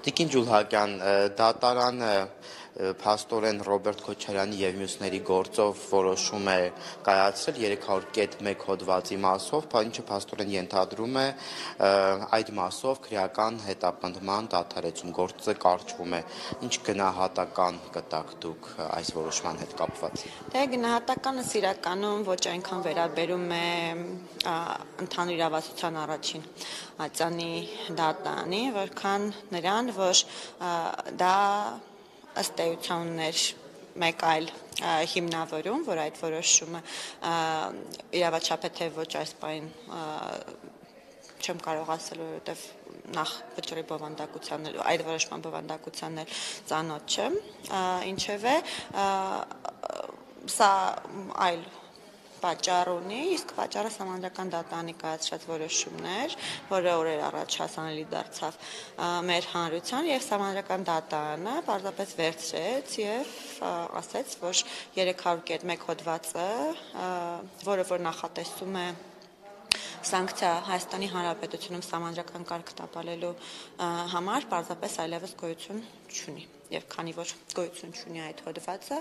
Տիկին Ջուլհակյան, դատարանը փաստորեն Ռոբերտ Քոչարյանի եւ մյուսների գործով որոշում է կայացրել 300.1 հոդվածի մասով, ինչը փաստորեն ենթադրում է այդ մասով քրեական հետապնդման դադարեցում, գործը կարճվում է։ Ինչ գնահատական կտաք դուք այս որոշման հետ կապված։ Դե գնահատականը իրականում ոչ այնքան վերաբերում է ընդհանուր իրավասության առաջին ատյանի դատարանի, որքան նրան, որ դա ըստ էության ուներ մեկ այլ հիմնավորում, որ այդ որոշումը իրավաչափ է թե ոչ այս պահին չեմ կարող ասել, որովհետև նախ վճռի բովանդակության այդ որոշման բովանդակությանն էլ ծանոթ չեմ, ինչևէ սա այլ պատճառ ունի, իսկ պատճառը Սահմանադրական դատարանի կայացրած որոշումներ, որը օրեր առաջ հասանելի դարձավ մեր հանրության, եւ Սահմանադրական դատարանը պարզապես վերցրեց եւ ասեց, որ 300.1 հոդվածը, որը որ նախատեսում է սանկցիա Հայաստանի Հանրապետությունում Սահմանադրական կարգ տապալելու համար պարզապես այլևս գոյություն չունի, եւ քանի որ գոյություն չունի այդ հոդվածը,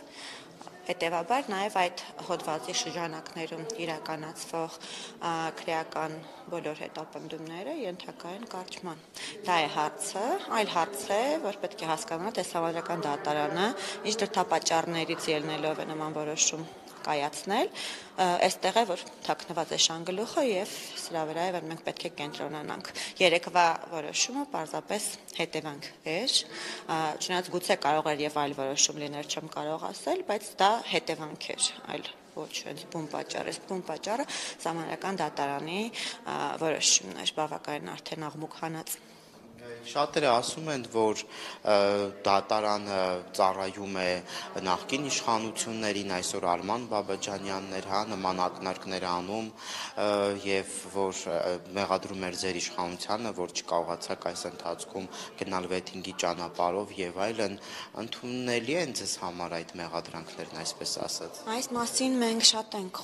հետևաբար նաև այդ հոդվածի շրջանակներում իրականացվող քրեական բոլոր հետապնդումները ենթակա են կարճման։ Դա է հարցը, այլ հարց է, որ պետք է հասկանալ, թե Սահմանադրական դատարանը ինչ դրդապատճառներից ելնելով է նման որոշում կայացնել, այստեղ է, որ թաքնված է շանգլուխը եւ սրա վրա է, որ մենք պետք է կենտրոնանանք։ Երեկվա որոշումը պարզապես հետևանք էր, չնայած գուցե կարող էր եւ այլ որոշում լիներ, չեմ կարող ասել, բայց դա հետևանք էր, այլ ոչ բուն պատճառ, բուն պատճառը Սահմանադրական դատարանի որոշումն էր, բավականին արդեն աղմուկ հանած։ Շատերը ասում են, որ դատարանը ծառայում է նախկին իշխանություններին, այսօր Արման Բաբաջանյաններ, նման ակնարկներ անում եւ որ մեղադրում էր ձեր իշխանությանը, որ չկարողացաք այս ընթացքում գնալ վեթինգի ճանապարհով եւ այլն, ընդունելի են ձեզ համար այդ մեղադրանքներն, այսպես ասած։ Այս մասին մենք շատ ենք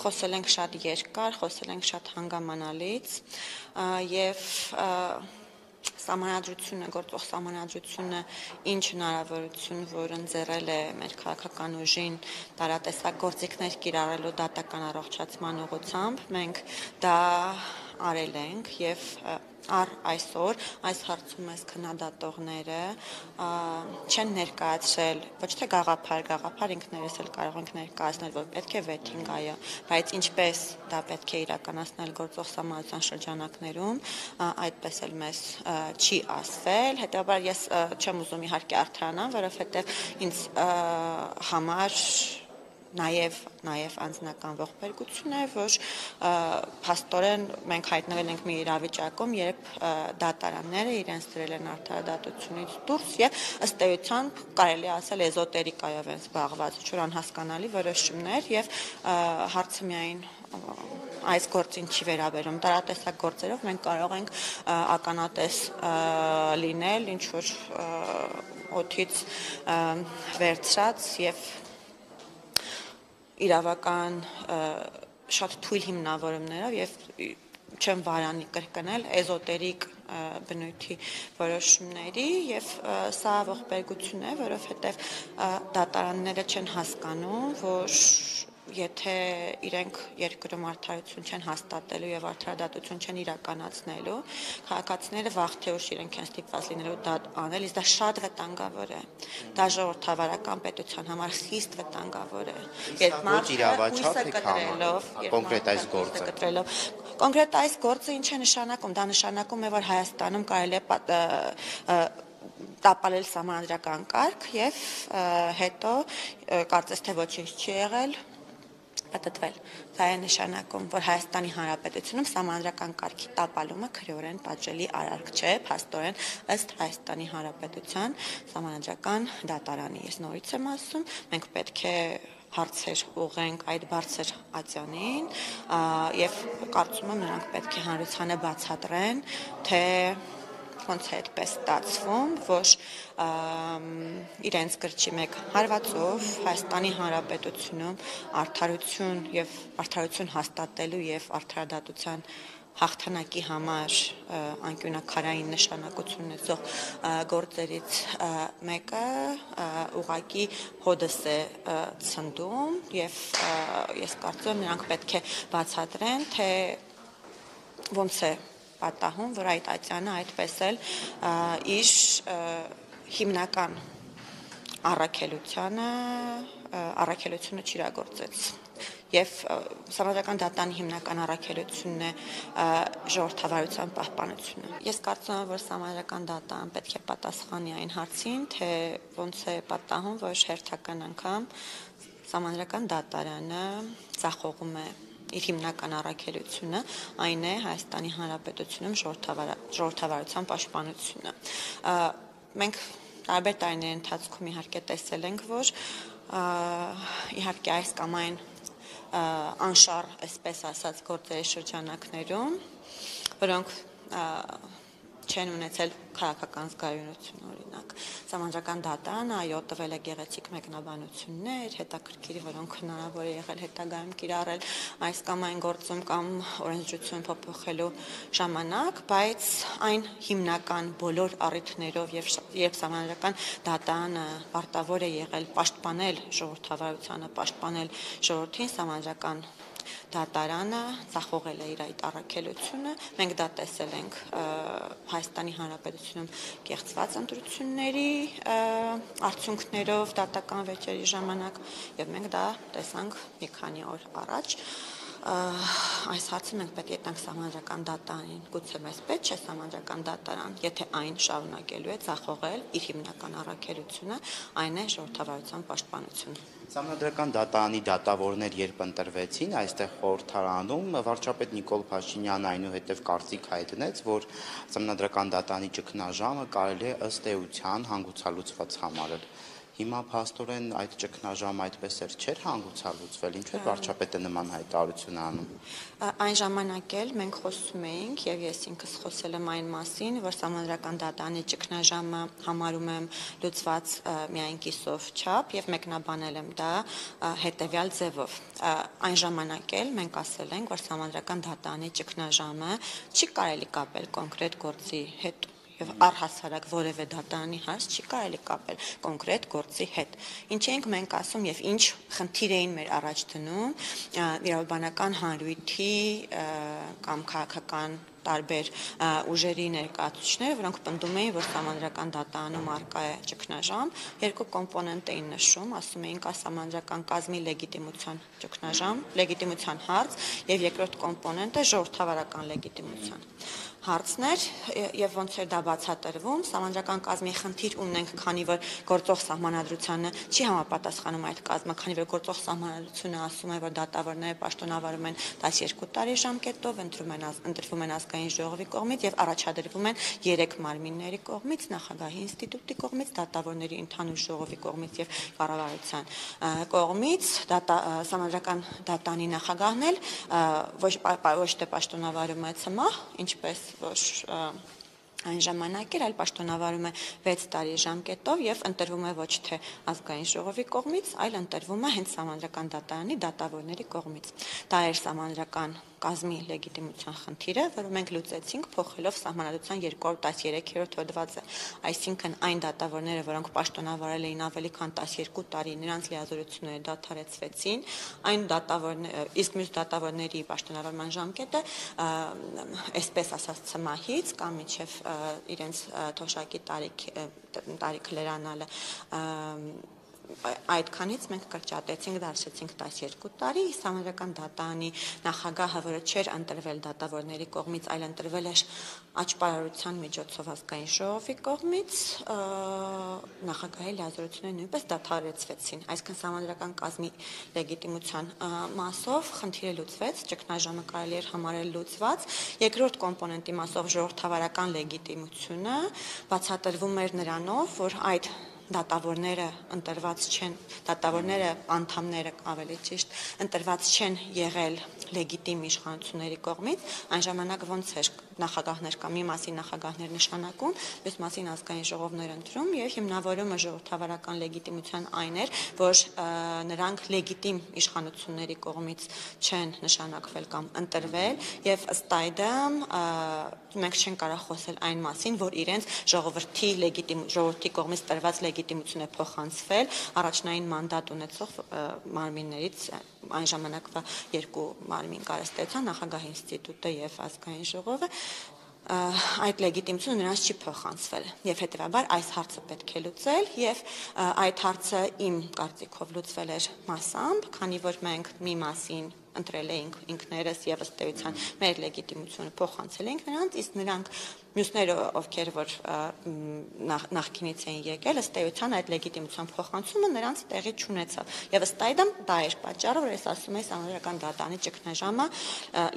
խոսել ենք շատ երկար, խոսել ենք շատ հանգամանալից եւ Սահմանադրությունը, գործող Սահմանադրությունը ինչ հնարավորություն, որ ընձեռել է մեր քաղաքական ուժին տարատեսակ գործիքներ կիրառելու դատական առողջացման ուղղությամբ, մենք դա արել ենք եւ առ այսօր այս հարցում այս քննադատողները չեն ներկայացրել ոչ թե գաղափար ինքներս էլ կարող ենք ներկայացնել, որ պետք է վեթինգ այո, բայց ինչպես դա պետք է իրականացնել գործող Սահմանադրության շրջանակներում, այդպես էլ մեզ չի ասվել, հետեւաբար ես չեմ ուզում իհարկե արդարանալ, որովհետեւ ինձ համար նաև անձնական ողբերգություն է, որ փաստորեն մենք հայտնվել ենք մի իրավիճակում, երբ դատարանները իրենց դրել են արդարադատությունից դուրս եւ ըստ էության կարելի ասել էզոտերիկայով են զբաղված, ինչ-որ անհասկանալի որոշումներ եւ հարցը միայն այս գործին չի վերաբերում, տարատեսակ գործերով մենք կարող ենք ականատես լինել ինչ-որ օդից վերցրած եւ իրավական շատ թույլ հիմնավորումներով եւ չեմ վարանի կրկնել էզոտերիկ բնույթի որոշումների եւ սա ողբերգություն է, որովհետեւ դատարանները չեն հասկանում, որ եթե իրենք երկրում արդարություն չեն հաստատելու եւ արդարադատություն չեն իրականացնելու, քաղաքացիները վաղ թե ուշ իրենք են ստիպված լինելու դա անել, իսկ դա շատ վտանգավոր է։ Դա ժողովրդավարական պետության համար խիստ վտանգավոր է։ Երբ մարդը հույսը կտրելով, կոնկրետ այս գործը Կոնկրետ այս գործը ինչ է նշանակում, դա նշանակում է, որ Հայաստանում կարելի է տապալել Սահմանադրական կարգ եւ հետո կարծես թե ոչինչ չի եղել պատտվել։ Դա է նշանակում, որ Հայաստանի Հանրապետությունում Սահմանադրական կարգի տապալումը քրեորեն պատժելի արարք չէ, փաստորեն ըստ Հայաստանի Հանրապետության Սահմանադրական դատարանի։ Ես նորից եմ ասում, մենք պետք է հարցեր ուղենք այդ բարձր ատյանին եւ կարծում եմ նրանք պետք է հանրությանը բացատրեն, թե ոնց է այդպես ստացվում, որ իրենց գրչի մեկ հարվածով Հայաստանի Հանրապետությունում արդարություն հաստատելու եւ արդարադատության հաղթանակի համար անկյունակարային նշանակություն ունեցող գործերից մեկը ուղղակի հոդս է ցնդում եւ ես կարծում եմ նրանք պետք է բացատրեն, թե ոնց է պատահում, որ այդ ատյանը այդպես էլ իր հիմնական առաքելությունը չիրագործեց եւ Սահմանադրական դատանի հիմնական առաքելությունն է ժողովրդավարության պահպանությունը։ Ես կարծում եմ, որ Սահմանադրական դատան պետք է պատասխանի այն հարցին, թե ոնց է պատահում, որ հերթական անգամ Սահմանադրական դատարանը ձախողում է իր հիմնական առաքելությունը, այն է Հայաստանի Հանրապետությունում ժողովրդավարության պաշտպանությունը։ Մենք տարբեր տարիների ընթացքում իհարկե տեսել ենք, որ իհարկե այս կամ այն անշառ, այսպես ասած, գործերի շրջանակներում, որոնք չեն ունեցել քաղաքական զգայունություն, օրինակ Սահմանադրական դատարանը այո տվել է գեղեցիկ մեկնաբանություններ, հետաքրքիր, որոնք հնարավոր է եղել հետագայում կիրառել այս կամ այն գործում կամ օրենսդրություն փոփոխելու ժամանակ, բայց այն հիմնական բոլոր առիթներով եւ Սահմանադրական դատարանը պարտավոր է եղել պաշտպանել ժողովրդավարությանը, պաշտպանել ժողովրդին, Սահմանադրական դատարանը ձախողել է իր այդ առաքելությունը։ Մենք դա տեսել ենք Հայաստանի Հանրապետությունում կեղծված ընտրությունների արդյունքներով դատական վեճերի ժամանակ եւ մենք դա տեսանք մի քանի օր առաջ։ Այս հարցը մենք պետք է տանք Սահմանադրական դատարանին, գուցե մեզ պետք չէ Սահմանադրական դատարան, եթե այն շարունակելու է ձախողել իր հիմնական առաքելությունը, այն է ժողովրդավարության պաշտպանությունը։ Սահմանադրական դատարանի դատավորներ երբ ընտրվեցին, այստեղ խորհրդարանում վարչապետ Նիկոլ Փաշինյանը այնուհետև կարծիք հայտնեց, որ Սահմանադրական դատարանի ճգնաժամը կարելի է ըստ էության հանգուցալուծված համարել։ Հիմա փաստորեն այդ ճգնաժամը այդպես էր չէր հանգուցալուծվել, ինչու է վարչապետը նման հայտարարություն անում։ Այն ժամանակ էլ մենք խոսում էինք եւ ես ինքս խոսել եմ այն մասին, որ Սահմանադրական դատարանի ճգնաժամը համարում եմ լուծված միայն կիսով չափ եւ մեկնաբանել եմ դա հետեւյալ ձևով։ Այն ժամանակ էլ մենք ասել ենք, որ Սահմանադրական դատարանի ճգնաժամը չի կարելի կապել կոնկրետ գործի հետ եւ առհասարակ որևէ դատարանի հարց չի կարելի կապել կոնկրետ գործի հետ։ Ինչ ենք մենք ասում եւ ինչ խնդիր էին մեր առաջ դնում իրավաբանական հանրույթի կամ քաղաքական տարբեր ուժերի ներկայացուցիչները, որոնք պնդում էին, որ Սահմանադրական դատարանում առկա է ճգնաժամ, երկու կոմպոնենտ էին նշում, ասում էին կա Սահմանադրական կազմի լեգիտիմության ճգնաժամ, լեգիտիմության հարց եւ երկրորդ կոմպոնենտը ժողովրդավարական լեգիտիմության հարցն էր եւ ոնց էր դա բացատրվում Սահմանադրական կազմի խնդիր ունենք, քանի որ գործող սահմանադրությանը չի համապատասխանում այդ կազմը, քանի որ գործող սահմանադրությունը ասում է, որ դատավորները պաշտոնավարում են 12 տարի ժամկետով, ընտրվում են ազգային ժողովի կողմից եւ առաջադրվում են 3 մարմինների կողմից, նախագահի ինստիտուտի կողմից, դատավորների ընդհանուր ժողովի կողմից եւ կառավարության կողմից, Սահմանադրական դատարանի նախագահն էլ ոչ թե պաշտոնավարում է ՑՄԱՀ, ինչպես որ այն ժամանակ էր, այլ պաշտոնավարում է 6 տարի ժամկետով եւ ընտրվում է ոչ թե ազգային ժողովի կողմից, այլ ընտրվում է հենց Սահմանադրական դատարանի դատավորների կողմից։ Դա էր Սահմանադրական կազմի լեգիտիմության խնդիրը, որը մենք լուծեցինք փոխելով Սահմանադրության 213-րդ հոդվածը, այսինքն այն դատավորները, որոնք պաշտոնավարել էին ավելի քան 12 տարի, նրանց լիազորությունները դադարեցվեցին, այն իսկ մյուս դատավորների պաշտոնավարման ժամկետը այսպես ասած ՑՄԱՀ-ից կամ մինչև իրենց թոշակի տարիք լրանալը այդքանից մենք կրճատեցինք, դարձրեցինք 12 տարի, Սահմանադրական դատարանի նախագահը, որը չէր ընտրվել դատավորների կողմից, այլ ընտրվել էր աճպարարության միջոցով ազգային ժողովի կողմից, նախագահի լիազորությունները նույնպես դադարեցվեցին, այսինքն Սահմանադրական կազմի լեգիտիմության մասով խնդիրը լուծվեց, ճգնաժամը կարելի էր համարել լուծված, երկրորդ կոմպոնենտի մասով ժողովրդավարական լեգիտիմությունը բացատրվում էր նրանով, որ այդ դատավորները ընտրված չեն, դատավորները անդամները ավելի ճիշտ ընտրված չեն եղել լեգիտիմ իշխանությունների կողմից, այն ժամանակ ոնց էր նախագահներ կամ մի մասի նախագահներ նշանակում, մյուս մասին ազգային ժողովներ ընտրում եւ հիմնավորումը ժողովրդավարական լեգիտիմության այն էր, որ նրանք լեգիտիմ իշխանությունների կողմից չեն նշանակվել կամ ընտրվել եւ ըստ այդմ մենք չենք կարող խոսել այն մասին, որ իրենց ժողովրդի կողմից տրված լեգիտիմություն է փոխանցվել առաջնային մանդատ ունեցող մարմիններից այն ժամանակվա երկու մարմին կարծեցան նախագահի ինստիտուտը եւ ազգային ժողովը այդ լեգիտիմությունը նրանց չի փոխանցվել եւ հետեւաբար այս հարցը պետք է լուծել եւ այդ հարցը իմ կարծիքով լուծվել էր մասամբ, քանի որ մենք մի մասին ընտրել էինք ինքներս եւ ըստ էության մեր լեգիտիմությունը փոխանցել էինք նրանց, իսկ նրանք մյուսները ովքեր որ նախկինից էին եկել, ըստ էության այդ լեգիտիմության փոխանցումը նրանց տեղի չունեցավ եւ ըստ այդմ դա էր պատճառը, որ ես ասում եմ համանդրական դատանի ճգնաժամը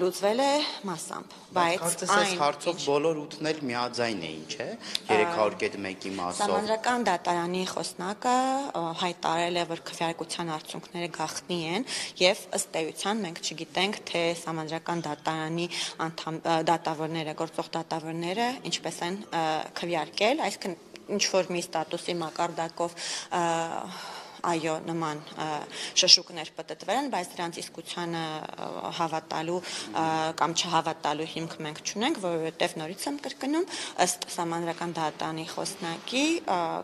լուծվել է մասամբ, բայց այս հարցով բոլոր ութներ միաձայն էին, չէ՞, 301-ի մասով։ Համանդրական դատարանի խոսնակը հայտարարել է, որ քվեարկության արդյունքները գաղտնի են եւ ըստ էության մենք չգիտենք, թե համանդրական դատարանի դատավորները, գործող դատավորները ինչպես են քվեարկել, այսինքն ինչ որ մի ստատուսի մակարդակով այո նման շշուկներ պատտվել են, բայց դրանց իսկությանը հավատալու կամ չհավատալու հիմք մենք չունենք, որովհետև նորից եմ կրկնում, ըստ համանդրական դատարանի խոսնակի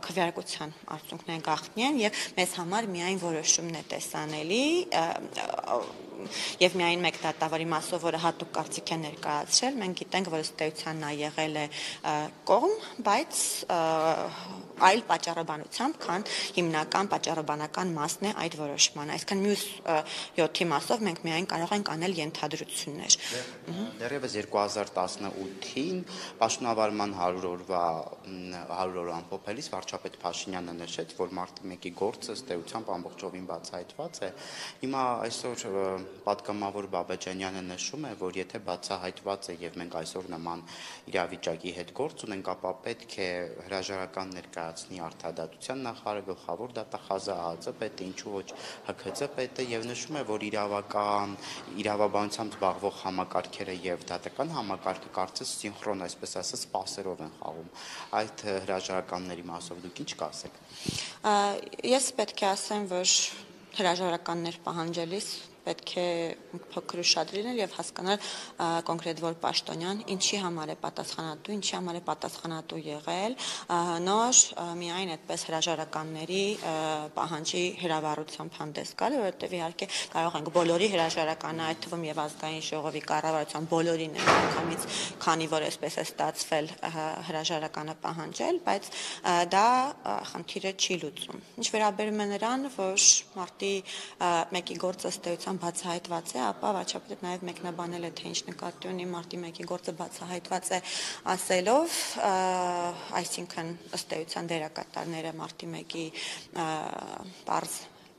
քվեարկության արդյունքները գաղտնի են եւ մեզ համար միայն որոշումն է տեսանելի եւ միայն մեկ դատավորի մասով, որը հատուկ կարծիք է ներկայացրել, մենք գիտենք, որ ըստ էության նա եղել է կողմ, բայց այլ պատճառաբանությամբ, քան հիմնական պատճառաբանական մասն է այդ որոշման։ Այսինքն մյուս 7-ի մասով մենք միայն կարող ենք անել ենթադրություններ։ Դեռևս 2018-ին պաշտոնավարման 100 օրը ամփոփելիս վարչապետ Փաշինյանը նշեց, որ մարտի 1-ի գործը ըստ էությամբ ամբողջովին բացահայտված է։ Հիմա այսօր պատգամավոր Բաբաջանյանը նշում է, որ եթե բացահայտված է եւ մենք այսօր նման իրավիճակի հետ գործ ունենք, ապա պետք է հրաժարական ներկայացնի արդարադատության նախարարը, գլխավոր դատախազը, ԱԱԾ պետը, ինչու ոչ ՀՔԾ պետը եւ նշում է, որ իրավաբանությամբ զբաղվող համակարգերը եւ դատական համակարգը կարծես սինխրոն, այսպես ասած, սպասերով են խաղում։ Այդ հրաժարականների մասով դուք ինչ կասեք։ Ես պետք է ասեմ, որ հրաժարականներ պահանջելիս պետք է փոքր ուշադիր լինել եւ հասկանալ կոնկրետ որ պաշտոնյան ինչի համար է պատասխանատու, ինչի համար է պատասխանատու եղել, նոր միայն այդպես հրաժարականների պահանջի հրավառությամբ հանդես գալ, որովհետեւ իհարկե կարող ենք բոլորի հրաժարականը, այդ թվում եւ ազգային ժողովի կառավարության բոլորին միանգամից, քանի որ այսպես է ստացվել հրաժարականը պահանջել, բայց դա խնդիրը չի լուծում։ Ինչ վերաբերում է նրան, որ մարտի 1-ի գործը ըստ էության բացահայտված է, ապա վարչապետը նաև մեկնաբանել է, թե ինչ նկատի ունի մարտի 1-ի գործը բացահայտված է ասելով, այսինքն ըստ էության դերակատարները մարտի 1-ի պարզ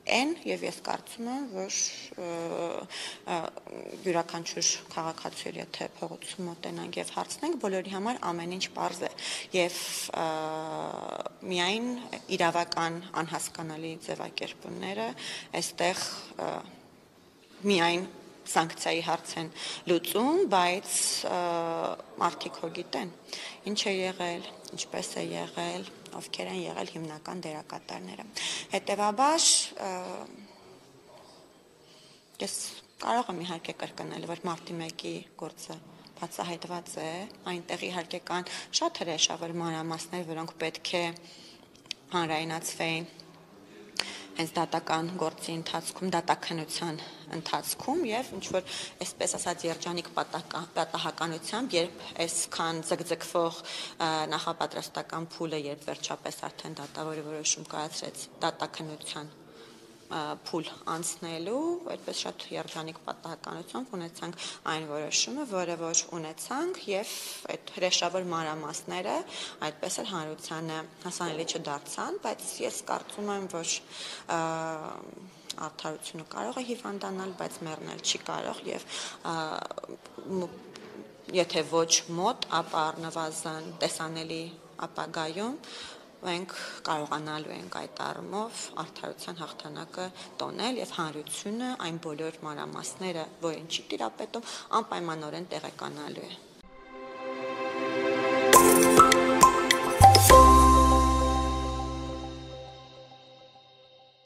են եւ ես կարծում եմ, որ յուրաքանչյուր քաղաքացու եթե փողոցում մոտենանք եւ հարցնենք, բոլորի համար ամեն ինչ պարզ է եւ միայն իրավական անհասկանալի ձևակերպումները այստեղ միայն սանկցիայի հարց են լուծում, բայց մարդիկ հո գիտեն ինչ է եղել, ինչպես է եղել, ովքեր են եղել հիմնական դերակատարները։ Հետևաբար ես կարող եմ իհարկե կրկնել, որ մարտի 1-ի գործը բացահայտված է, այնտեղ իհարկե կան շատ հրեշավոր մանրամասներ, որոնք պետք է հանրայնացվեին հենց դատական գործի ընթացքում, դատաքննության ընթացքում եւ ինչ որ այսպես ասած երջանիկ պատահականությամբ, երբ այսքան ձգձգվող նախապատրաստական փուլը երբ վերջապես արդեն դատավորի որոշում կայացրեց դատաքննության փուլ անցնելու, այդպես շատ երջանիկ պատահականությամբ ունեցանք այն որոշումը, որը որ ունեցանք եւ այդ հրեշավոր մանրամասները այդպես էլ հանրությանը հասանելի չդարձան, բայց ես կարծում եմ, որ արդարությունը կարող է հիվանդանալ, բայց մեռնել չի կարող եւ եթե ոչ մոտ, ապա առնվազն տեսանելի ապագայում մենք կարողանալու ենք այդ առումով արդարության հաղթանակը տոնել եւ հանրությունը այն բոլոր մանրամասները, որին չի տիրապետում, անպայմանորեն տեղեկանալու է։